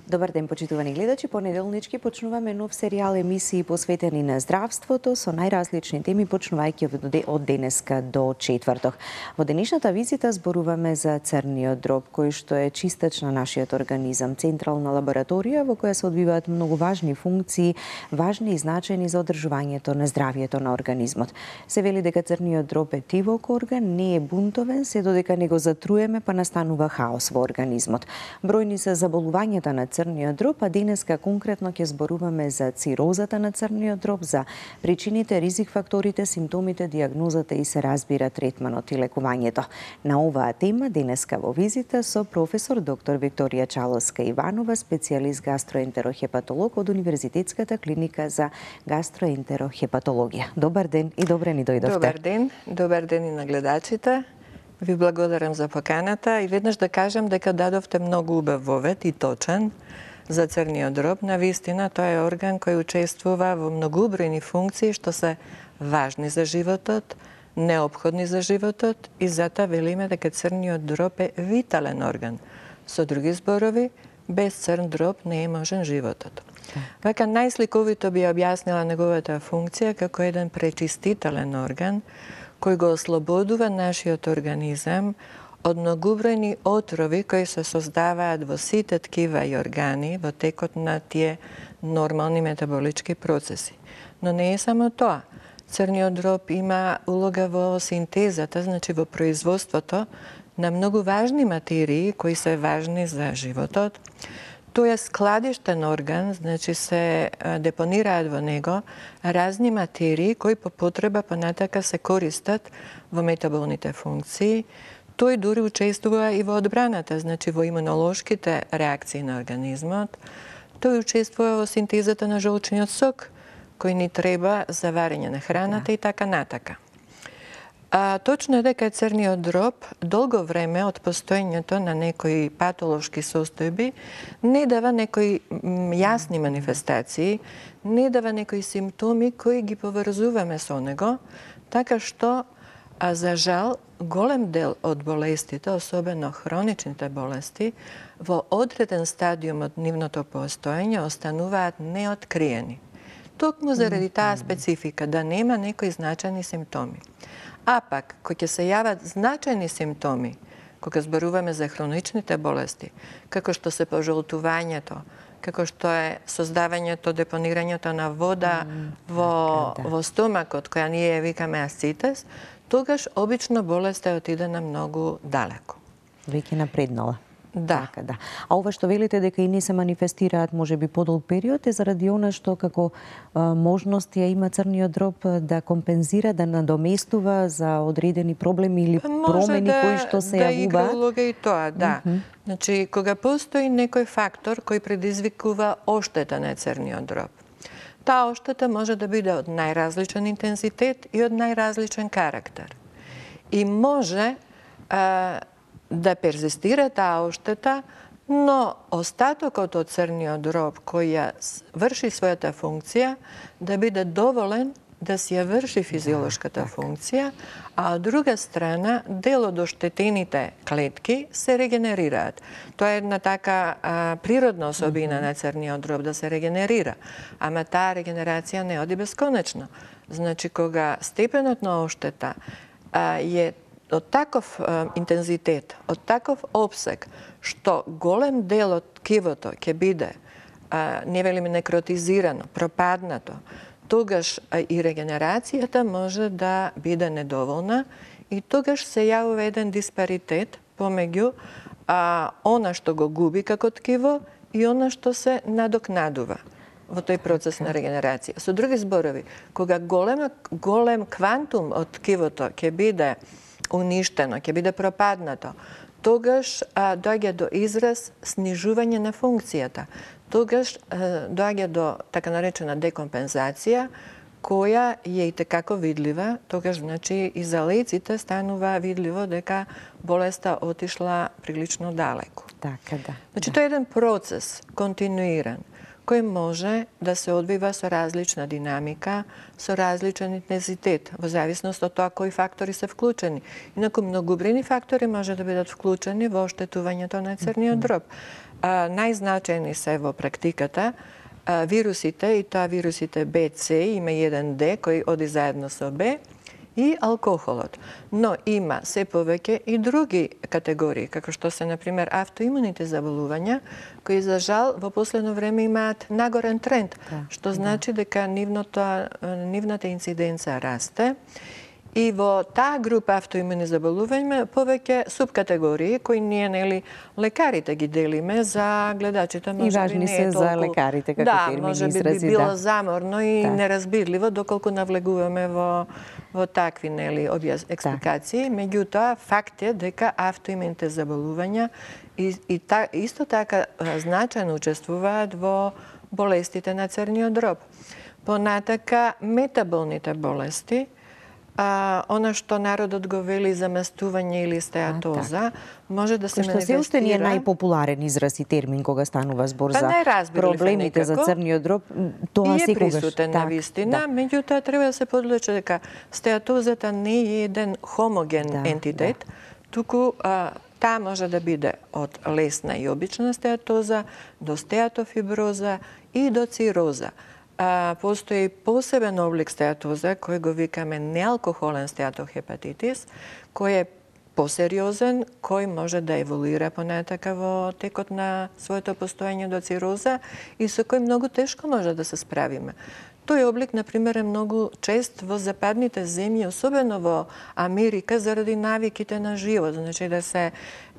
Добар ден, почитувани гледачи. Понеделнички почнуваме нов серијал емисии посветени на здравството со најразлични теми, почнувајќи од денеска до четврток. Во денешната визита зборуваме за црниот дроб, кој што е чистач на нашиот организам, централна лабораторија во која се одвиваат многу важни функции, важни и значајни за одржувањето на здравието на организмот. Се вели дека црниот дроб е тивок орган, не е бунтовен, се додека не го затруеме па настанува хаос во организмот. Бројни се заболувањата на црниот дроб, а денеска конкретно ќе зборуваме за цирозата на црниот дроб, за причините, ризик факторите, симптомите, дијагнозата и се разбира третманот и лекувањето. На оваа тема денеска во визита со професор доктор Викторија Чаловска Иванова, специјалист гастроентерохепатолог од Универзитетската клиника за гастроентерохепатологија. Добар ден и добре ни дојдовте. Добар ден и на гледачите. Ви благодарам за поканата и веднаш да кажам дека дадовте многу убав вовед и точен за црниот дроб. Навистина, тоа е орган кој учествува во многубројни функции што се важни за животот, неопходни за животот и затоа велиме дека црниот дроб е витален орган. Со други зборови, без црн дроб не е можен животот. Вака најсликовито би објаснила неговата функција како еден пречистителен орган кој го ослободува нашиот организам од многубројни отрови кои се создаваат во сите ткива и органи во текот на тие нормални метаболички процеси. Но не е само тоа. Црниот дроб има улога во синтезата, значи во производството на многу важни материи кои се важни за животот. Тој е складиштен орган, значи се депонираат во него разни материи кои по потреба понатака се користат во метаболните функции. Тој дури учествува и во одбраната, значи во имунолошките реакции на организмот. Тој учествува во синтезата на жолчниот сок, кој ни треба за варење на храната и така натака. Точно е дека црниот дроб долго време од постоењето на некои патолошки состојби не дава некои јасни манифестации, не дава некои симптоми кои ги поврзуваме со него, така што, за жал, голем дел од болестите, особено хроничните болести, во одреден стадиум од нивното постоење остануваат неоткриени. Токму заради таа специфика да нема некои значајни симптоми. А пак, кој ќе се јават значајни симптоми, кога зборуваме за хроничните болести, како што се пожолтувањето, како што е создавањето, депонирањето на вода во стомакот, која ние викаме асцитес, тогаш обично болеста отиде на многу далеко. Веќе напреднала. Да. Така, да. А ова што велите дека и не се манифестираат можеби подолг период е заради она што како можност ја има црниот дроб да компензира, да надоместува за одредени проблеми или промени кои што се јавуваат? Да игра улога и тоа, да. Значи, кога постои некој фактор кој предизвикува оштета на црниот дроб, таа оштета може да биде од најразличен интензитет и од најразличен карактер. И може да перзистира таа оштета, но остатокот од црниот дроб кој ја врши својата функција да биде доволен да си ја врши физиолошката функција, а од друга страна дел од оштетените клетки се регенерираат. Тоа е една така природна особина на црниот дроб да се регенерира, ама таа регенерација не оди бесконечно. Значи, кога степенот на оштета е од таков интензитет, од таков обсег, што голем дел од ткивото ќе биде, не велиме некротизирано, пропаднато, тогаш и регенерацијата може да биде недоволна и тогаш се јавува еден диспаритет помеѓу она што го губи како ткиво и она што се надокнадува во тој процес на регенерација. Со други зборови, кога голем квантум од ткивото ќе биде уништено, ќе биде пропаднато, тогаш доаѓа до израз снижување на функцијата. Тогаш доаѓа до така наречена декомпензација, која е и текако видлива, тогаш значи и за лејците станува видливо дека болеста отишла прилично далеко. Така, да. Значи тоа е еден процес континуиран, кој може да се одвива со различна динамика, со различен интензитет, во зависност од тоа кои фактори се вклучени. Инаку многобройни фактори може да бидат вклучени во оштетувањето на црниот дроб. Најзначајни се во практиката вирусите, и тоа вирусите Б, С, има еден Д кој оди заедно со Б, и алкохолот. Но има се повеќе и други категории, како што се, например, автоимуните заболувања, кои, за жал, во последно време имаат нагорен тренд, што значи дека нивната инциденца расте. И во таа група автоимуни заболувања повеќе субкатегории кои ние, нели, лекарите ги делиме, за гледачите може би важни не е се толку... за лекарите како термини, може би изрази, било заморно и Так. неразбирливо доколку навлегуваме во такви, нели, експликации. Меѓутоа, факт е дека автоимуните заболувања исто така значајно учествуваат во болестите на црниот дроб. Понатака, метаболните болести, она што народот го вели заместување или стеатоза, може да се манифестира... Што се уште не е најпопуларен израз и термин кога станува збор за проблемите за црниот дроб, тоа секогаш е присутен на вистина, меѓутоа треба да се подлече дека стеатозата не е еден хомоген ентитет, туку таа може да биде од лесна и обична стеатоза до стеатофиброза и до цироза. Постои посебен облик стеатоза, кој го викаме неалкохолен стеатохепатитис, кој е посериозен, кој може да еволуира понатака во текот на своето постоење до цироза и со кој многу тешко може да се справиме. Тој облик, например, е многу чест во западните земји, особено во Америка, заради навиките на живот. Значи да се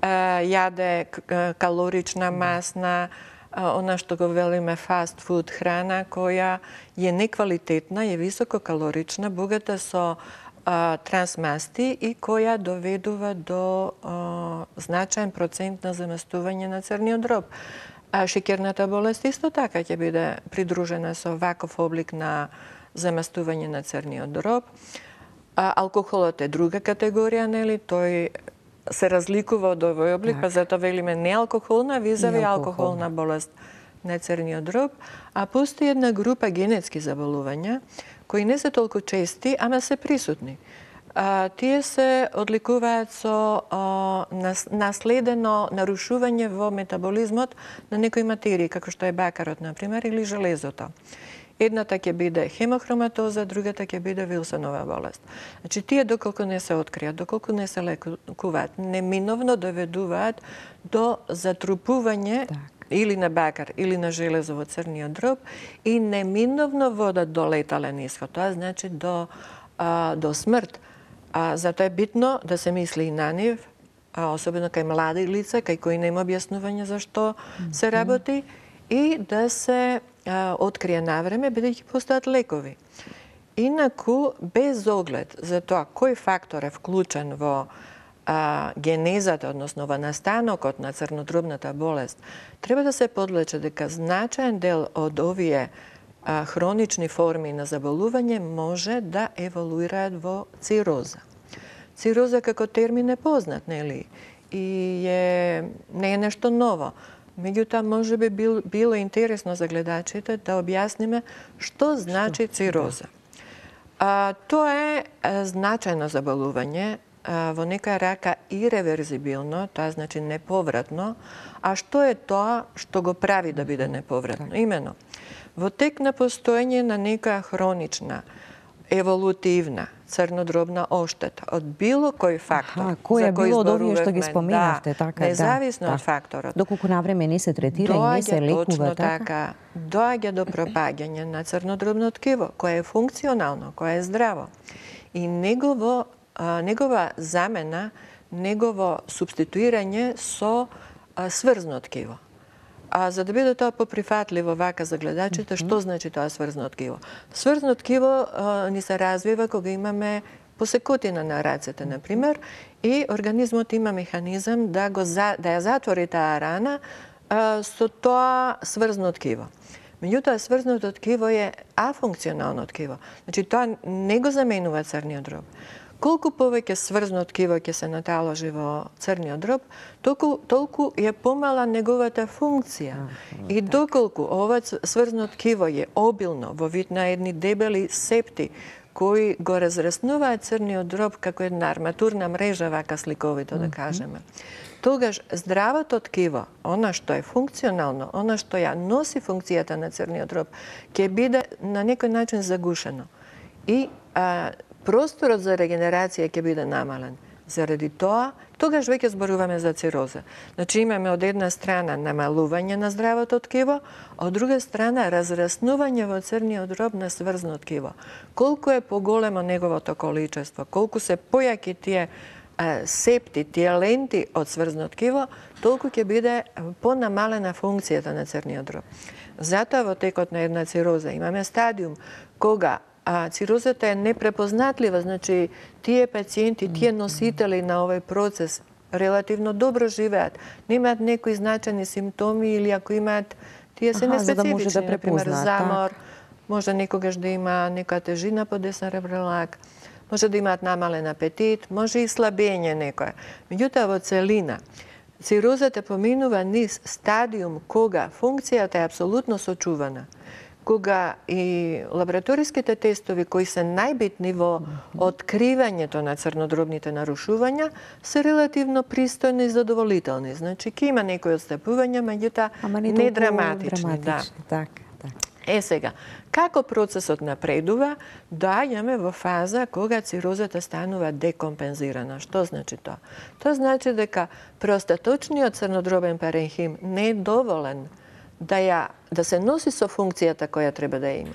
јаде калорична, масна, она што го велиме фаст фуд храна, која е неквалитетна, е висококалорична, богата со трансмасти и која доведува до значаен процент на заместување на црниот дроб. Шеќерната болест исто така ќе биде придружена со ваков облик на заместување на црниот дроб. Алкохолот е друга категорија, нели, тој се разликува од овој облик, па затоа велиме неалкохолна визави алкохолна болест на црниот дроб, а постои една група генетски заболувања кои не се толку чести, ама се присутни. Тие се одликуваат со наследено нарушување во метаболизмот на некои материи, како што е бакарот, например, или железото. Едната ќе биде хемохроматоза, другата ќе биде Вилсонова болест. Значи, тие доколку не се откријат, доколку не се лекуваат, неминовно доведуваат до затрупување или на бакар, или на железо во црниот дроб и неминовно водат до летален исход. Тоа значи до смрт. Затоа е битно да се мисли и на нив, особено кај млади лица, кај кои нема објаснување зашто се работи, и да се открие навреме, бидејќи постојат лекови. Инаку, без оглед за тоа кој фактор е вклучен во генезата, односно во настанокот на црнодробната болест, треба да се подлече дека значаен дел од овие хронични форми на заболување може да еволуираат во цироза. Цироза како термин е познат, нели? И не е нешто ново. Меѓутоа, може би било интересно за гледачите да објасниме што значи цироза. Тоа е значајно заболување, во некоја рака иреверзибилно, тоа значи неповратно, а што е тоа што го прави да биде неповратно? Имено, во тек на постоење на некоја хронична, еволутивна, црнодробна оштета од било кој фактор, кој е било од овие што ги споменавте, така, независно од факторот. Доколку навреме не се третира и не се лекува, така, доаѓа до пропаѓање на црнодробно ткиво, кое е функционално, кое е здраво. И негова замена, негово субституирање со сврзно ткиво. За да биде тоа поприфатливо вака за гледачите, што значи тоа сврзно ткиво? Сврзно ткиво ни се развива кога имаме посекотина на рацете, например, и организмот има механизам да ја затвори таа рана со тоа сврзно ткиво. Меѓутоа, сврзното ткиво е афункционално ткиво. Значи, тоа не го заменува црниот дроб. колку повеќе сврзно ткиво ќе се наталожи во црниот дроб, толку е помала неговата функција. И доколку ова сврзно ткиво е обилно во вид на едни дебели септи кои го разраснуваат црниот дроб како една арматурна мрежа, вака сликовито да кажеме, тогаш здравото ткиво, она што е функционално, она што ја носи функцијата на црниот дроб, ќе биде на некој начин загушено. И просторот за регенерација ќе биде намален. Заради тоа, тогаш веќе зборуваме за цироза. Значи имаме од една страна намалување на здравото ткиво, од друга страна разраснување во црниот дроб на сврзно ткиво. Колку е поголемо неговото количество, колку се појаки тие септи, тие ленти од сврзно ткиво, толку ќе биде понамалена функцијата на црниот дроб. Затоа во текот на една цироза имаме стадиум кога цирозата е непрепознатлива, значи тие пациенти, тие носители на овој процес релативно добро живеат, немаат некои значајни симптоми или ако имаат, тие се неспецифични, например замор, може некогаш да има некоја тежина по десен ребрелак, може да имаат намален апетит, може и слабење некоја. Меѓутоа во целина, цирозата поминува низ стадиум кога функцијата е апсолутно сочувана, кога и лабораториските тестови кои се најбитни во откривањето на црнодробните нарушувања се релативно пристојни и задоволителни. Значи, ќе има некои отстапувања, меѓутоа не драматични. Сега, како процесот напредува, доаѓаме во фаза кога цирозата станува декомпензирана. Што значи тоа? Тоа значи дека простаточниот црнодробен паренхим не е доволен да се носи со функцијата која треба да има.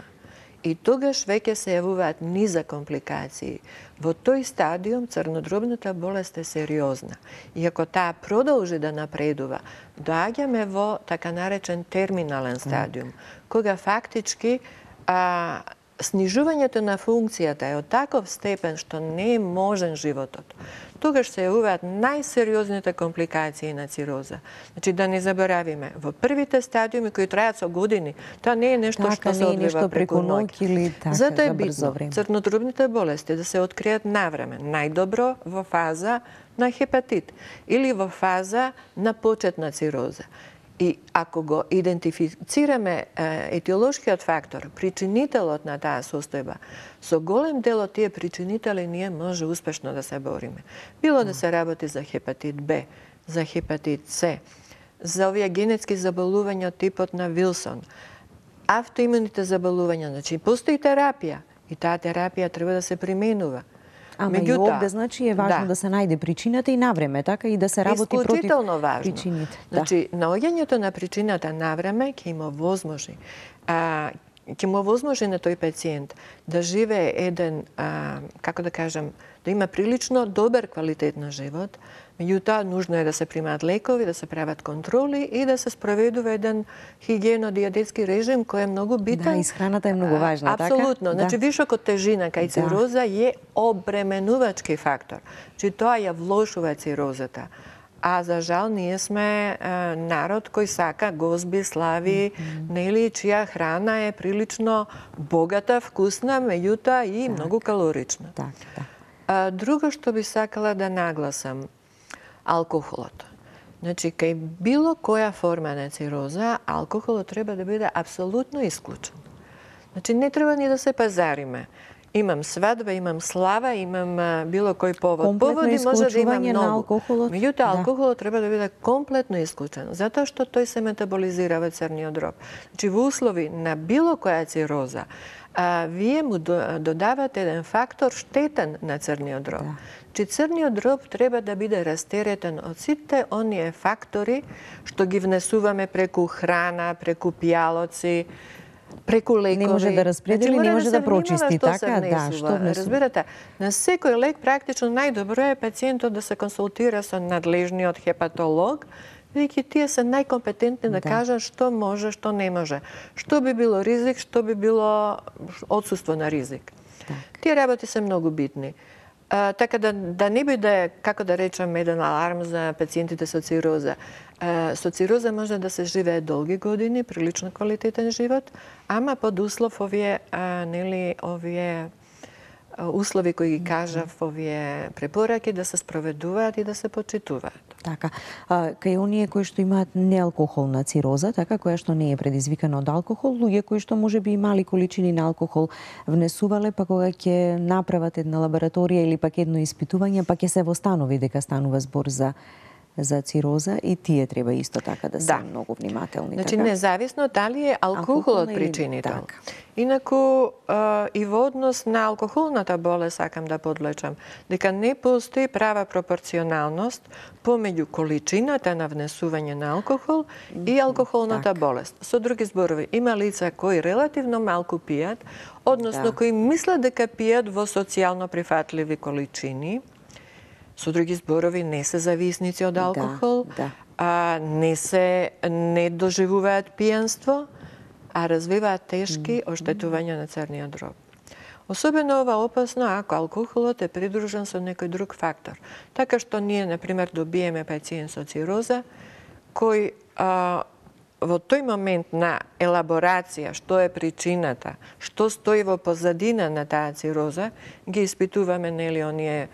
И тогаш веќе се јавуваат низа компликации. Во тој стадиум црнодробната болест е сериозна. И ако таа продолжи да напредува, доаѓаме во така наречен терминален стадиум, кога фактички снижувањето на функцијата е од таков степен што не е можен животот. Тогаш се јавуваат најсериозните компликации на цироза. Значи да не заборавиме, во првите стадиуми кои трајат со години, тоа не е нешто што се одвива преку ноќ. Затоа е битно црнодробните болести да се откријат навреме, најдобро во фаза на хепатит или во фаза на почетна цироза. И ако го идентифицираме етиолошкиот фактор, причинителот на таа состојба, со голем дел од тие причинители ние може успешно да се бориме. Било да се работи за хепатит Б, за хепатит С, за овие генетски заболувања од типот на Вилсон, автоимуните заболувања, значи постои терапија и таа терапија треба да се применува. Ама и овде, значи, е важно да се најде причината и навреме, така и да се работи против причините. Значи, наоѓањето на причината навреме ќе има возможи. Ќе му возможи на тој пациент да живее еден, како да кажам, да има прилично добар квалитет на живот, меѓутоа нужно е да се примаат лекови, да се прават контроли и да се спроведува еден хигиено-диететски режим кој е многу битен. Да, исхраната е многу важна, така? Апсолутно. Значи, вишокот тежина кај цироза е обременувачки фактор. Значи, тоа ја влошува цирозата. А за жал ние сме народ кој сака гозби, слави, нели, чија храна е прилично богата, вкусна, меѓутоа и многу калорична. Друго што би сакала да нагласам, алкохолот. Значи, кај било која форма на цироза, алкохолот треба да биде апсолутно исклучен. Значи, не треба ни да се пазариме. Имам свадба, имам слава, имам било кој повод. Поводи може да има многу. Меѓутоа, алкохолот треба да биде комплетно исклучен, затоа што тој се метаболизира во црниот дроб. Значи, во услови на било која цироза, вие му додавате еден фактор штетен на црниот дроб. Значи, црниот дроб треба да биде растеретен од сите оние фактори што ги внесуваме преку храна, преку пијалоци, преку лекови. Не може да распредели, не може да прочисти, така? Да, што внесува? Разбирате, на секој лек практично најдобро е пациентот да се консултира со надлежниот хепатолог, бидејќи тие се најкомпетентни да кажат што може, што не може. Што би било ризик, што би било отсуство на ризик. Тие работи се многу битни. Така да не биде, како да речем, еден аларм за пациентите со цироза. Со цироза може да се живее долги години, прилично квалитетен живот, ама под услов овие услови кои ги кажав овие препораки да се спроведуваат и да се почитуваат. Така, кај оние кои што имаат неалкохолна цироза, така, која што не е предизвикана од алкохол, луѓе кои што можеби и мали количини на алкохол внесувале, па кога ќе направат една лабораторија или пак едно испитување, па ќе се востанови дека станува збор за цироза, и тие треба исто така да се многу внимателни. Значи, така? независно дали е алкохолот причинител. Така. Инаку, и во однос на алкохолната болест, сакам да подлечам, дека не постои права пропорционалност помеѓу количината на внесување на алкохол и алкохолната болест. Со други зборови, има лица кои релативно малку пијат, односно кои мислат дека пијат во социјално прифатливи количини. Со други зборови, не се зависници од алкохол, не доживуваат пијанство, а развиваат тешки оштетувања на црниот дроб. Особено ова опасно ако алкохолот е придружен со некој друг фактор. Така што ние, например, добиеме пациент со цироза, кој во тој момент на елаборација, што е причината, што стои во позадина на таа цироза, ги испитуваме, нели, оние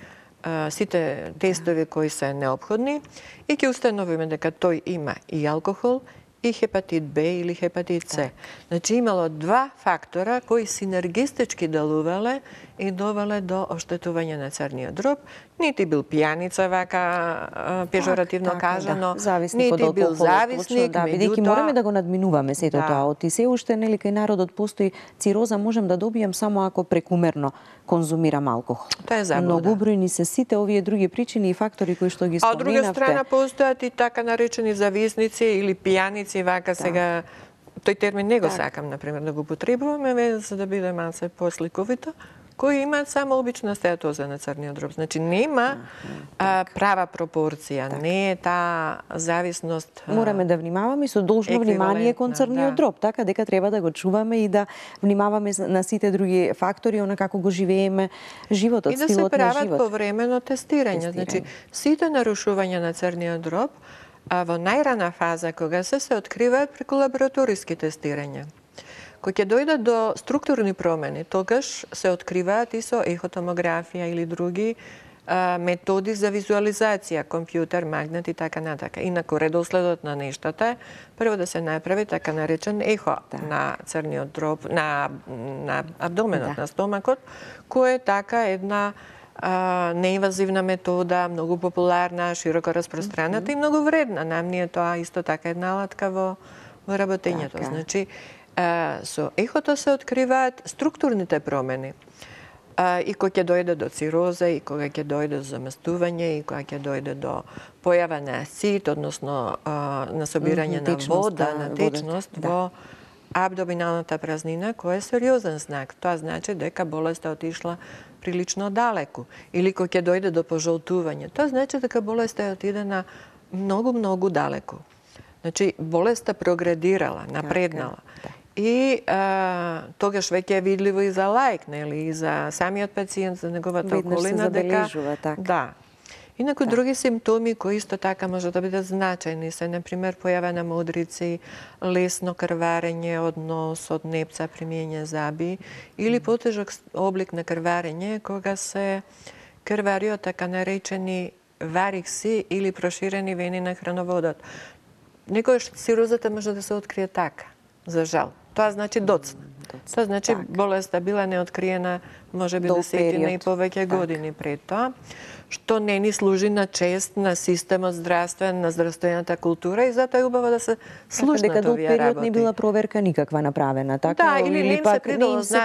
сите тестови кои се неопходни и ќе установиме дека тој има и алкохол, и хепатит Б или хепатит С. Значи имало два фактора кои синергистички делувале и довеле до оштетување на црниот дроб. Нити бил пијаница, вака пежоративно кажано, нити бил зависник, бидејќи мораме да го надминуваме сето тоа. Оти се уште, нели, кај народот постои цироза можам да добијам само ако прекумерно конзумирам алкохол. Тоа е заблуда. Многу бројни се сите овие други причини и фактори кои што ги споменавте. А од друга страна постојат и така наречени зависници или пијаници, вака сега тој термин не го сакам, например, да го потребуваме, за да биде малце посликовито, кои имаат само обична стеатоза на црниот дроб. Значи нема права пропорција, не е таа зависност. Мораме да внимаваме со должно внимание кон црниот дроб, така дека треба да го чуваме и да внимаваме на сите други фактори, она како го живееме животот, стилот на живот. И да се прават повремено тестирање. Значи сите нарушувања на црниот дроб во најрана фаза, кога се откриваат преку лабораториски тестирања. Кој ќе дојдат до структурни промени, тогаш се откриваат и со ехотомографија или други методи за визуализација, компјутер, магнет и така натака. Инаку редоследот на нештата е прво да се направи така наречен ехо на црниот дроб, на абдоменот, на стомакот, кој е така една неинвазивна метода, многу популарна, широко распространета и многу вредна. Нам ни е тоа исто така една алатка во работењето. Значи, со ехото се откриваат структурните промени. И кога ќе дојде до цироза, и кога ќе дојде до заместување, и кога ќе дојде до појава на асцит, односно на собирање на вода, на течност во абдоминалната празнина, кој е сериозен знак. Тоа значи дека болеста отишла прилично далеку. Или кога ќе дојде до пожолтување, тоа значи дека болеста отиде на многу далеку. Значи, болеста прогредирала, напреднала. И тогаш веќе е видливо и за лаик, нели, и за самиот пациент, за неговата околина, дека да. Инаку други симптоми кои исто така може да бидат значајни се, например, појава на модрици, лесно крварење од нос, од непца, примиење заби, или потежок облик на крварење кога се крвари од така наречени варикси или проширени вени на храноводот. Некојаш цирозата може да се открие така, за жал. Тоа значи доцна. Тоа значи болеста била неоткриена може би десетина и повеќе години пред тоа, што не ни служи на чест на системот здравствен, на здравствената култура и затоа е убаво да се слушнат овие работи. Дека до период не била проверка никаква направена, така? Да, или не им се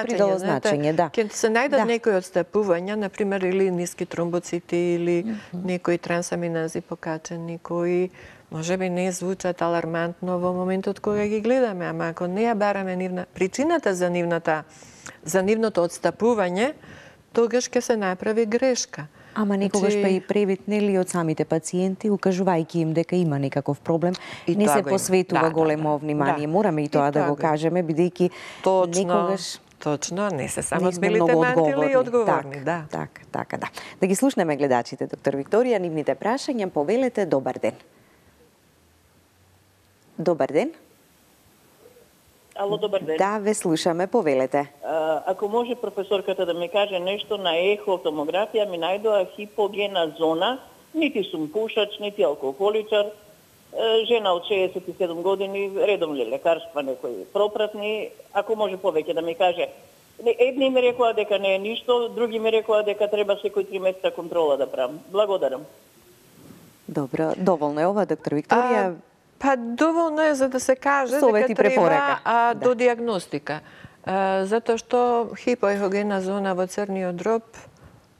придало значење. Ќе се најдат некои отстапувања, например, или ниски тромбоцити, или некои трансаминази покачени, кои може би не звучат алармантно во моментот кога ги гледаме, ама ако не ја бараме причината за нивното отстапување, тогаш ќе се направи грешка. Ама некогаш па и превид, нели, од самите пациенти, укажувајќи им дека има некаков проблем, не се посветува големо внимание. Мораме и тоа да го кажеме, бидејќи некогаш точно, не се само смелите мантили и одговорни. Така. Да ги слушнеме гледачите, доктор Викторија, нивните прашања, повелете, добар ден. Добар ден. Ало, добар ден. Да, ве слушаме, повелете. Ако може професорката да ми каже нешто на ехотомографија, ми најдоа хипогена зона, нити сум пушач, нити алкохоличар, жена од 67 години, редовни лекарства, некои пропратни, ако може повеќе да ми каже. Едни ми рекоа дека не е ништо, други ми рекоа дека треба секој 3 месеца контрола да правам. Благодарам. Добро, доволно е ова, доктор Викторија? Па доволно е за да се каже Совет и дека треба препорака. до диагностика. Затоа што хипоехогена зона во црниот дроб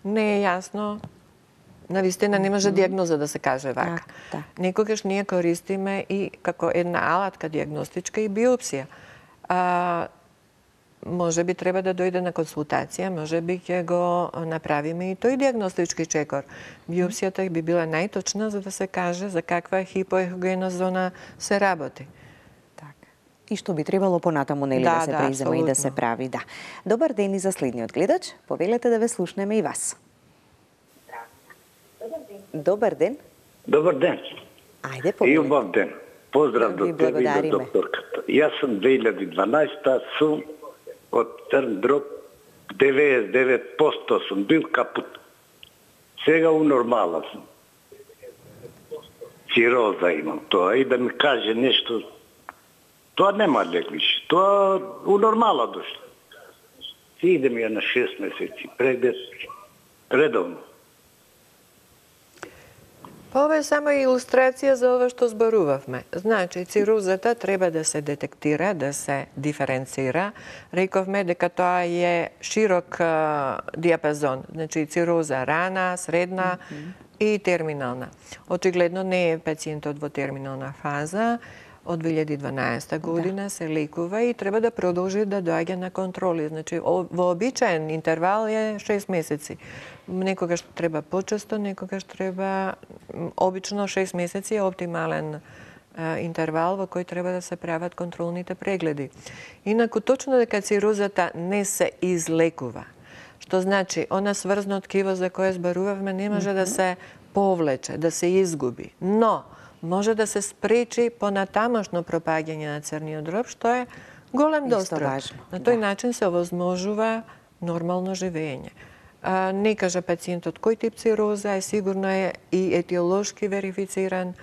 не е јасно. Навистина не може диагноза да се каже вака. Да. Некогаш ние користиме и како една алатка диагностичка и биопсија. Може би треба да дојде на консултација, може би ќе го направиме и тој диагностички чекор. Биопсијата би била најточна за да се каже за каква хипоехогена зона се работи. Така. И што би требало понатаму нели да се презема и да се прави, да. Добар ден и за следниот гледач. Повелете да ве слушнеме и вас. Добар ден. Добар ден. Ајде, И повелете. убав ден. Поздрав до тебе и до докторката. Јас сум 2012 сум од Црн дроб, 99% сум бил капут. Сега у нормала сум. Цироза имам тоа и да ми каже нешто. Тоа нема лек више. Тоа у нормала дошло. Си идем ја на 6 месеци преглед редовно. Па ова е само илустрација за ова што зборувавме. Значи, цирозата треба да се детектира, да се диференцира. Рековме дека тоа е широк диапазон. Значи, цироза рана, средна и терминална. Очигледно не е пациентот во терминална фаза. Од 2012 година се лекува и треба да продолжи да доаѓа на контроли. Значи, вообичаен интервал е 6 месеци. Некогаш треба почесто, некогаш треба обично 6 месеци е оптимален интервал во кој треба да се прават контролните прегледи. Инаку точно дека цирозата не се излекува, што значи она сврзно ткиво за кое зборувавме не може да се повлече, да се изгуби, но може да се спречи понатамошно пропаѓање на црниот дроб, што е голем дострак. На тој начин се овозможува нормално живење. Не кажа пациентот кој тип цироза е, сигурно е и етиолошки верифициран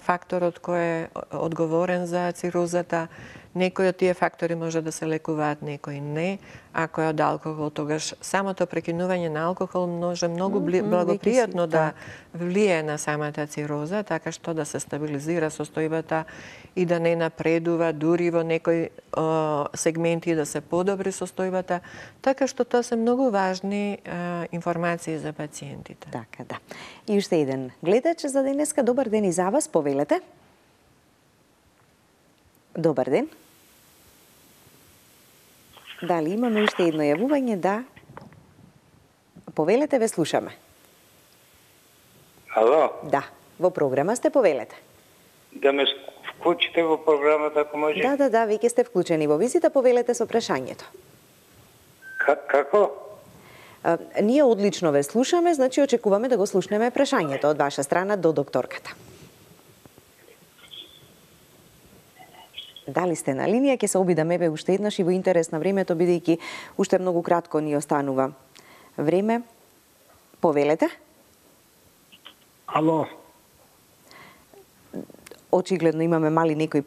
факторот кој е одговорен за цирозата. Некои од тие фактори може да се лекуваат, некои не. Ако е од алкохол, тогаш самото прекинување на алкохол може многу благопријатно да влие на самата цироза, така што да се стабилизира состојбата и да не напредува, дури во некои сегменти да се подобри состојбата, така што тоа се многу важни информации за пациентите. Така, да. И уште еден гледач за денеска. Добар ден и за вас, повелете. Добар ден. Дали имаме уште едно јавување? Да. Повелете, ве слушаме. Ало? Да, во програма сте, повелете. Да ме вклучите во програмата, ако може? Да, веќе сте вклучени во визита, повелете со прашањето. Како? Ние одлично ве слушаме, значи очекуваме да го слушнеме прашањето од ваша страна до докторката. Дали сте на линија, ќе се обидаме уште еднаш и во интерес на времето, бидејќи уште многу кратко ни останува време. Повелете? Ало? Очигледно имаме мали некои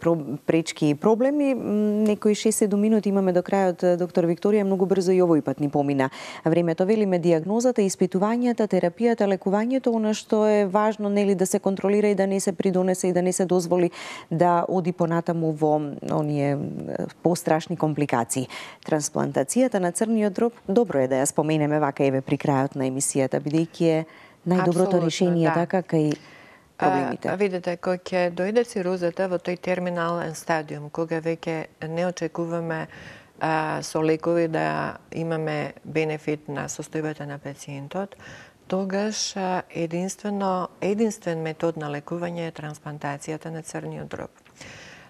пречки и проблеми. Некои 6-7 минути имаме до крајот, доктор Викторија, многу брзо и овој пат ни помина. Времето, велиме, диагнозата, испитувањата, терапијата, лекувањето, она што е важно, нели, да се контролира и да не се придонесе и да не се дозволи да оди понатаму во оние пострашни компликации. Трансплантацијата на црниот дроб, добро е да ја споменеме вака еве при крајот на емисијата, бидејќи е најдоброто решение така кај проблемите. Видите, кога ќе дојде цирозата во тој терминален стадиум, кога веќе не очекуваме со лекови да имаме бенефит на состојбата на пациентот, тогаш единствен метод на лекување е трансплантацијата на црниот дроб.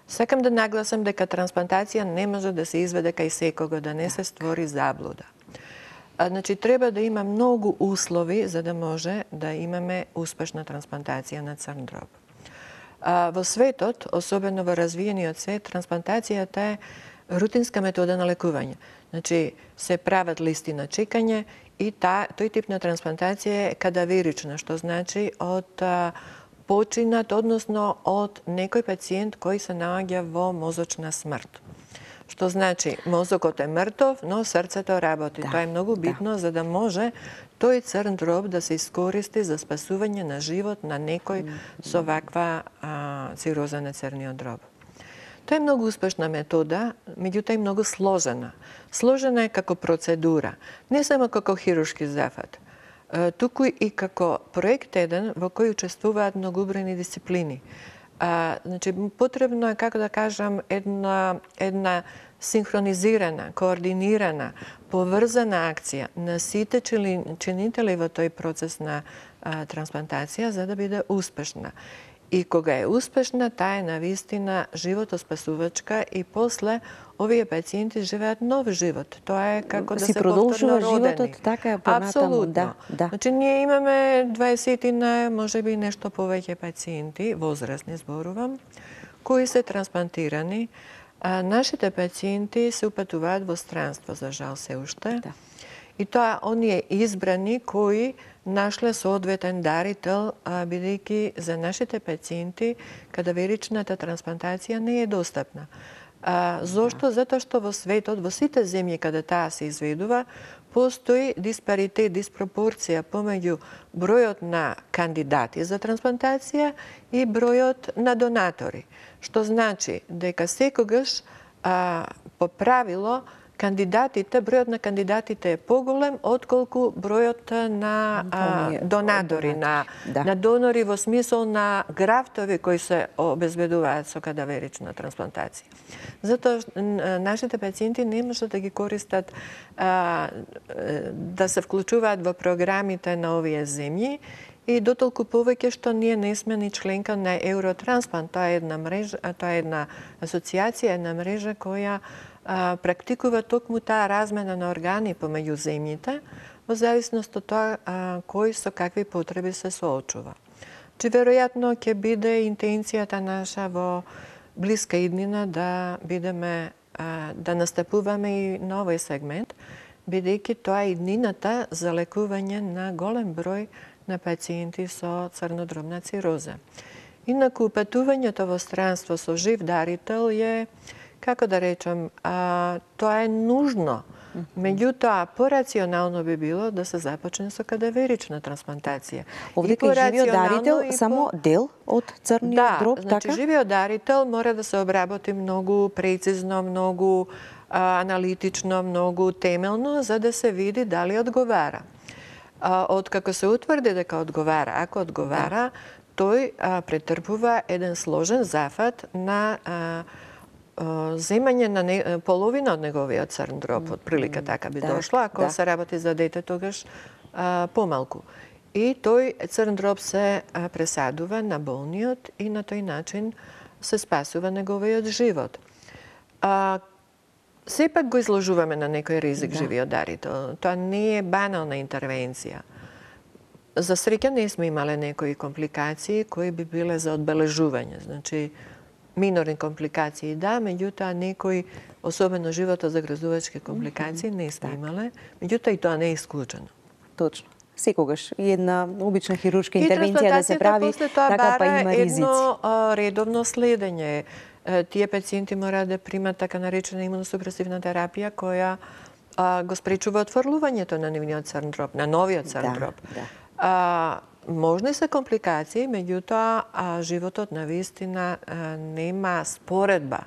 Сакам да нагласам дека трансплантација не може да се изведе кај секого, да не се створи заблуда. Значи, треба да има многу услови за да може да имаме успешна трансплантација на црн дроб. Во светот, особено во развиениот свет, трансплантацијата е рутинска метода на лекување. Значи, се прават листи на чекање и тој тип на трансплантација е кадаверична, што значи од починат, односно од некој пациент кој се наоѓа во мозочна смрт. Што значи, мозокот е мртов, но срцето работи. Тоа е многу битно за да може тој црн дроб да се искористи за спасување на живот на некој со ваква цироза на црниот дроб. Тоа е многу успешна метода, меѓутоа е многу сложена. Сложена е како процедура, не само како хируршки зафат, туку и како проект еден во кој учествуваат многобројни дисциплини. Значи, потребно е, како да кажам, една синхронизирана, координирана, поврзана акција на сите чинители во тој процес на трансплантација за да биде успешна. И кога е успешна, таа е навистина животоспасувачка и после овие пациенти живеат нов живот. Тоа е како да се продолжува повторно родени. животот, така е понатаму. Апсолутно. Да. Значи, ние имаме 20 можеби нешто повеќе пациенти, возрастни зборувам, кои се трансплантирани. Нашите пациенти се упатуваат во странство, за жал се уште. Да. И тоа оние избрани кои нашле соодветен дарител, бидејќи за нашите пациенти кадаверичната трансплантација не е достапна. Зошто? Затоа што во светот, во сите земји каде таа се изведува, постои диспаритет, диспропорција помеѓу бројот на кандидати за трансплантација и бројот на донатори. Што значи дека секогаш по правило бројот на кандидатите е поголем отколку бројот на донатори, на донори во смисол на графтови кои се обезбедуваат со кадаверична трансплантација. Затоа нашите пациенти не можат да ги користат, да се вклучуваат во програмите на овие земји, и дотолку повеќе што ние не сме ни членка на Евротрансплант. Тоа е една мрежа, тоа е една асоциација, една мрежа која практикува токму таа размена на органи помеѓу земјите, во зависност од тоа кој со какви потреби се соочува. Че веројатно ќе биде интенцијата наша во блиска иднина да бидеме, да настапуваме и на овој сегмент, бидејќи тоа е иднината за лекување на голем број на пациенти со црнодробна цироза. Инаку упатувањето во странство со жив дарител е, како да речем, тоа е нужно. Меѓутоа, порационално би било да се започне со кадаверична трансплантација. Овде кај живиот дарител само дел од црниот дроб, така? Значи живиот дарител мора да се обработи многу прецизно, многу аналитично, многу темелно, за да се види дали одговара. Откако се утврди дека одговара, ако одговара, тој претрпува еден сложен зафат на земање на половина од неговиот црн дроб, од прилика така би дошло, ако се работи за дете, тогаш помалку. И тој црн дроб се пресадува на болниот и на тој начин се спасува неговиот живот. Сепак го изложуваме на некој ризик живиот дарител. Тоа не е банална интервенција. За среќа не сме имале некои компликации кои би биле за одбележување. Значи, минорни компликации да, меѓутоа некои, особено животозагрозувачки компликации не сме имале, меѓутоа и тоа не е исклучено. Точно. Секогаш и една обична хируршка интервенција да се прави, така па има ризици. Едно редовно следење. Тие пациенти мора да примат така наречена имуносупресивна терапија која го спречува отфрлувањето на нивниот црн дроб, на новиот црн дроб. Можни се компликации, меѓутоа животот на вистина нема споредба.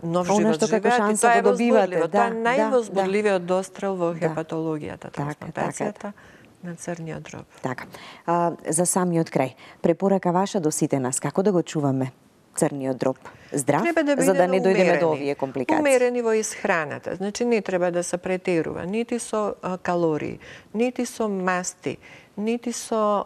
Нов живот живеат и тоа е возбудливо. Тоа е највозбудливиот дострел во хепатологијата, трансплантацијата на црниот дроб. Така. За самиот крај, препорака ваша до сите нас, како да го чуваме црниот дроб здрав, за да не дојдеме до овие компликации? Умерени во исхраната. Значи, не треба да се претерува, нити со калории, нити со масти, нити со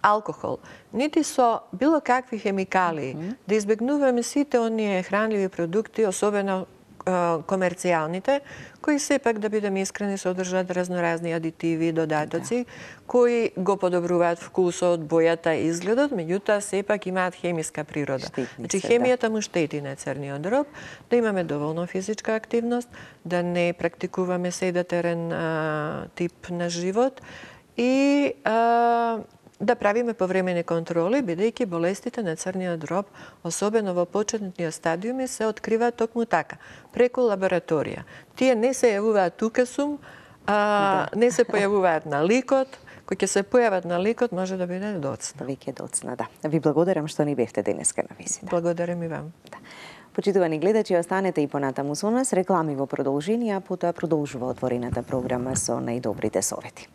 алкохол, нити со било какви хемикалии. Да избегнуваме сите оние хранливи продукти, особено комерцијалните, кои сепак, да бидеме искрени, содржат разноразни адитиви, додатоци, кои го подобруваат вкусот, бојата и изгледот, меѓутоа сепак имаат хемиска природа. Значи, хемијата му штети на црниот дроб, да имаме доволно физичка активност, да не практикуваме седатерен тип на живот и да правиме повремени контроли, бидејќи болестите на црниот дроб, особено во почетниот стадиуми, се откриваат токму така, преку лабораторија. Тие не се јавуваат тукасум, не се појавуваат на ликот, кои ќе се појават на ликот може да биде доцна. Веќе доцна, да. Ви благодарам што ни бевте денеска на визита. Благодарам и вам. Да. Почитувани гледачи, останете и понатаму со нас, реклами во продолжение, а потоа продолжува отворената програма со најдобрите совети.